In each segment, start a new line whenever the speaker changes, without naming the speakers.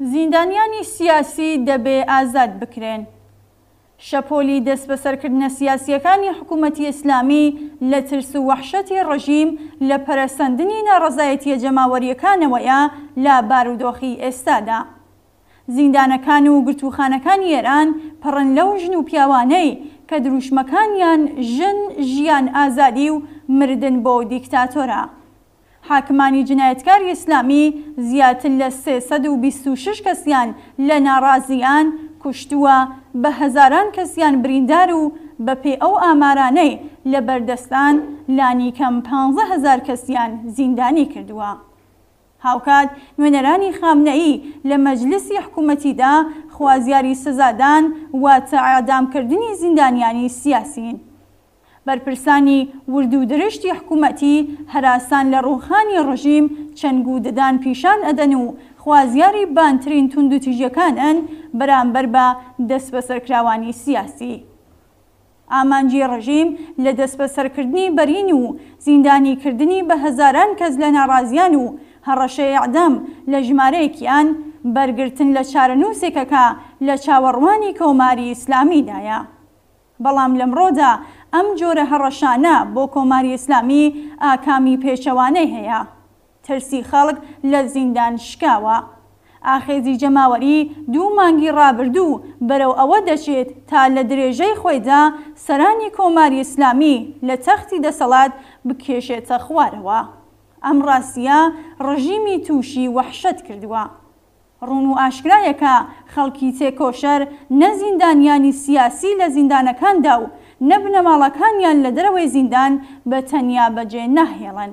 زیندانیانی سیاسی دەبێ ئازاد بکرێن. شەپۆلی دەستبەسەرکردنە سیاسییەکانی حکوومەتی ئیسلامی لە ترس و وەحشەتی ڕژیم لە پەرەسەندنی ناڕەزایەتییە جەماوەرییەکانەوەیە لە بارودۆخی ئێستادا. زیندانەکان و گرتووخانەکانی ئێران پڕن لەو ژن و پیاوانەی کە دروشمەکانیان ژن، ژیان، ئازادی و مردن بۆ دیکتاتۆرە. حاکمانی جنایەتکاری ئیسلامی زیاتر لە 326 کەسیان لە ناڕازیان کوشتووە، بە هەزاران کەسیان بریندار و بەپێی ئەو ئامارانەی لە بەردەستان لانیکەم 15 هەزار کەسیان زیندانی کردووە. هاوکات نوێنەرانی خامنەیی لە مەجلسی حکوومەتیدا خوازیاری سزادان واتە ئێعدامکردنی زیندانیانی سیاسین. بەرپرسانی ورد و درشتی حکوومەتی هەراسان لە ڕووخانی ڕژیم چنگ و ددان پیشان ئەدەن و خوازیاری بانترین توندوتیژیەکانن بەرامبەر بە دەسبەسەرکراوانی سیاسی. ئامانجی ڕژیم لە دەسبەسەرکردنی بەرین و زیندانی کردنی بە هەزاران کەس لە ناڕازیان و هەڕەشەی ئێعدام لە ژمارەیەکیان، بەرگرتن لە چارەنووسێکە کە لە چاوەڕوانی کۆماری ئیسلامیدایە. بەڵام لەمڕۆدا ئەم جۆرە هەڕەشانە بۆ کۆماری ئیسلامی ئاکامی پێچەوانەی هەیە. ترسی خەڵک لە زیندان شکاوە. ئاخێزی جەماوەری دوو مانگی ڕابردوو بەرەو ئەوە دەچێت تا لە درێژەی خۆیدا سەرانی کۆماری ئیسلامی لە تەختی دەسەڵات بکێشێتە خوارەوە. ئەم ڕاستییە ڕژیمی تووشی وەحشەت کردووە. ڕوون و ئاشکرایە کە خەڵکی تێکۆشەر نە زیندانیانی سیاسی لە زیندانەکاندا و نە بنەماڵەکانیان لە دەرەوەی زیندان بە تەنیا بەجێ ناهێڵن.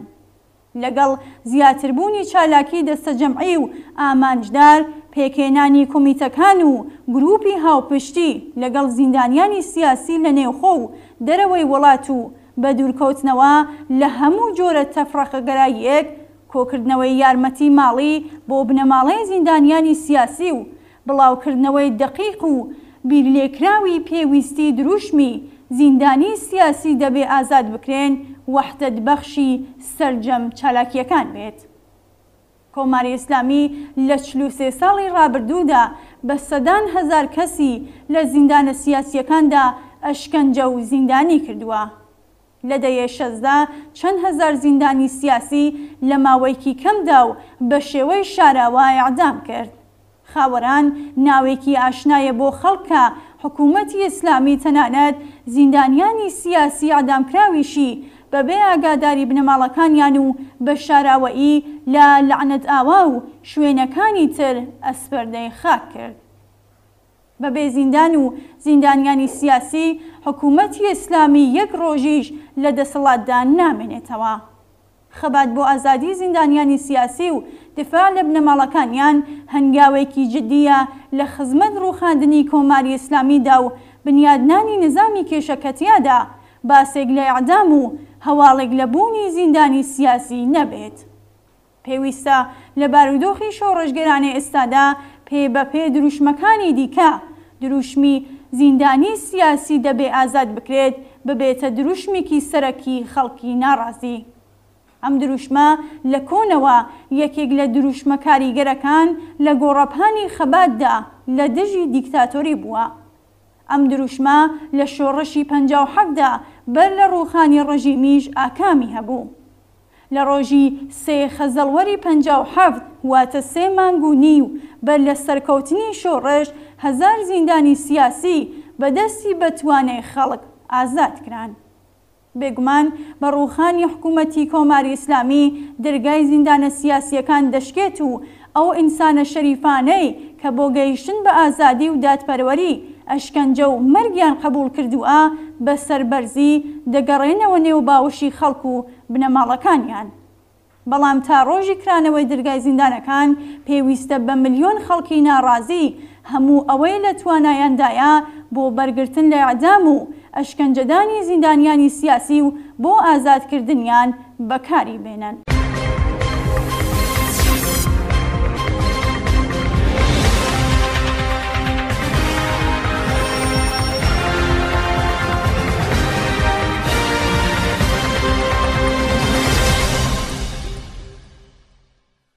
لەگەڵ زیاتربوونی چالاکی دەستەجەمعی و ئامانجدار، پێکهێنانی کۆمیتەکان و گرووپی هاوپشتی لەگەڵ زیندانیانی سیاسی لە نێوخۆ و دەرەوەی وڵات و بەدوورکەوتنەوە لە هەموو جۆرە تەفرەقەگەراییەک، کۆکردنەوەی یارمەتی ماڵی بۆ بنەماڵەی زیندانیانی سیاسی و بڵاوکردنەوەی دەقیق و بیرلێکراوی پێویستی دروشمی، زیندانی سیاسی دەبێ ئازاد بکرێن، وەحدەت بەخشی سەرجەم چالاکییەکان بێت. کۆماری ئیسلامی لە 43 ساڵی ڕابردوودا بە سەدان هەزار کەسی لە زیندانە سیاسییەکاندا ئەشکەنجە و زیندانی کردووە. لە دەیەی شەستدا چەند هەزار زیندانی سیاسی لە ماوەیکی کەمدا و بە شێوەی شاراوە ئێعدام کرد. خاوەران ناوێکی ئاشنایە بۆ خەڵک کە حکوومەتی ئیسلامی تەنانەت زیندانیانی سیاسی ئێعدامکراویشی بە بێ ئاگاداری بنەماڵەکانیان و بە شاراوەیی لە لەعنەتئاوا و شوێنەکانی تر ئەسپەردەی خاک کرد. بە بێ زیندان و زیندانیانی سیاسی، حکوومەتی ئیسلامی یەک ڕۆژیش لە دەسەڵاتدا نامێنێتەوە. خەبات بۆ ئازادی زیندانیانی سیاسی و دفاع لە بنەماڵەکانیان هەنگاوێکی جدییە لە خزمەت ڕووخاندنی کۆماری ئیسلامیدا و بنیادنانی نزامی کێشە کە تیادا باسێک لە ئێعدام و هەواڵێک لە بوونی زیندانی سیاسی نەبێت. پێویستە لە بارودۆخی شۆڕشگێرانەی ئێستادا پێ بە پێ دروشمەکانی دیکە، دروشمی زیندانی سیاسی دەبێ ئازاد بکرێت ببێتە دروشمێکی سەرەکی خەڵکی ناڕازی. ئەم دروشمە لە کۆنەوە یەکێک لە دروشمە کاریگەرەکان لە گۆڕەپانی خەباتدا لە دژی دیکتاتۆری بووە. ئەم دروشمە لە شۆڕشی 57 دا بەر لە ڕووخانی ڕژیمیش ئاکامی هەبوو. لە ڕۆژی سێ خەزەڵوەری 57 واتە سێ مانگ و نیو بەر لە سەرکەوتنی شۆڕش، هەزار زیندانی سیاسی بە دەستی بەتوانای خەڵک ئازاد کران. بێگومان بە ڕووخانی حکوومەتی کۆماری ئیسلامی درگای زیندانە سیاسییەکان دەشکێت و ئەو ئینسانە شەریفانەی کە بۆ گەیشتن بە ئازادی و دادپەروەری ئەشکەنجە و مەرگیان قەبووڵ کردووە بە سەربەرزی دەگەڕێنەوە نێو باوەشی خەڵک و بنەماڵەکانیان. بەڵام تا ڕۆژی کرانەوەی درگای زیندانەکان پێویستە بە ملیۆن خەڵکی ناڕازی هەموو ئەوەی لە توانایاندایە بۆ بەرگرتن لە ئیعدام و ئەشکەنجەدانی زیندانیانی سیاسی و بۆ ئازادکردنیان بەکاری بێنن.